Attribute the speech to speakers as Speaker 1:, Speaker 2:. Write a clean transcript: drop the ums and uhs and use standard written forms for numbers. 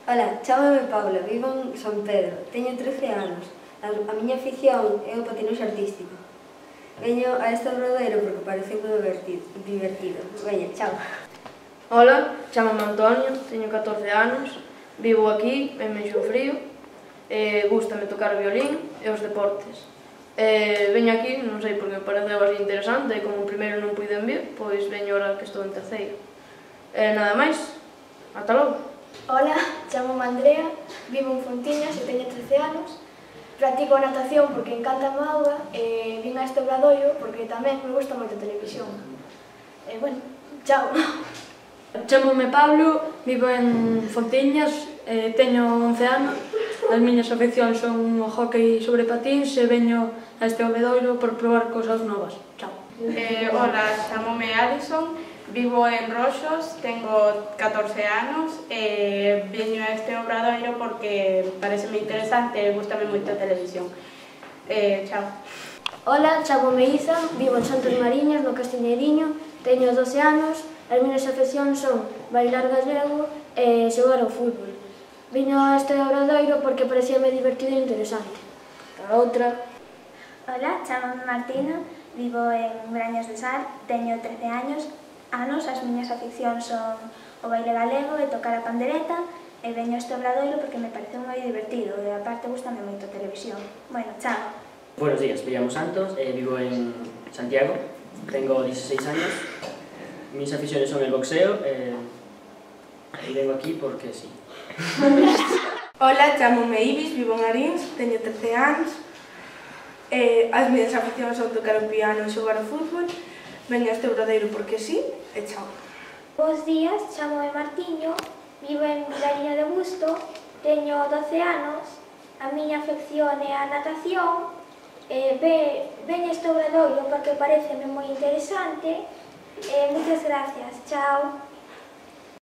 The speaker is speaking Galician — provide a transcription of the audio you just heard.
Speaker 1: Ola, chámame Paula, vivo en San Pedro, teño 13 anos. A miña afición é o patinaxe artístico. Veño a este obradoiro porque parece moi divertido. Veña, chao.
Speaker 2: Ola, chámame Antonio, teño 14 anos, vivo aquí, en Meixo Frío, gústame tocar o violín e os deportes. Veño aquí, non sei porque me pareceu así interesante, e como o primeiro non puiden vir, pois veño ahora que estou en terceiro. Nada máis, ata logo.
Speaker 3: Ola, chámome Andrea, vivo en Fontiñas e teño 13 anos. Practico natación porque encanta a auga e vin a este obradoiro porque tamén me gusta moito a televisión. Bueno, chao.
Speaker 4: Chámome Pablo, vivo en Fontiñas, teño 11 anos. As miñas afeccións son o hóckey sobre patins e veño a este obradoiro por probar cousas novas. Chao.
Speaker 5: Ola, chámome Alison, vivo en Roxos, tengo 14 anos e veño a este obradoiro porque pareceme interesante e gustame moito a televisión. Chao.
Speaker 3: Ola, chámome Isa, vivo en Santos Mariñas, no Castiñeiriño, teño 12 anos, as miñas afeccións son bailar gallego e xogar ao fútbol. Viño a este obradoiro porque parecíame divertido e interesante. A outra.
Speaker 6: Ola, chámame Martina, vivo en Brañas de Sar, teño 13 anos, as miñas aficións son o baile galego e tocar a pandereta e veño a este obradoiro porque me parece moi divertido e aparte gustame moito a televisión. Bueno, chao.
Speaker 7: Buenos días, me llamo Santos, vivo en Santiago, tengo 16 años, mis aficiones son el boxeo y vengo aquí porque sí.
Speaker 8: Ola, chámome Ibis, vivo en Arins, teño 13 anos, as miñas aficións son tocar o piano e xogar ao fútbol, veño a este obradoiro porque sí, e chao.
Speaker 9: Bos días, chámome Martiño, vivo en Vilariño de Busto, teño 12 anos, a miña afección é a natación, veño este obradoiro porque pareceme moi interesante, moitas gracias, chao.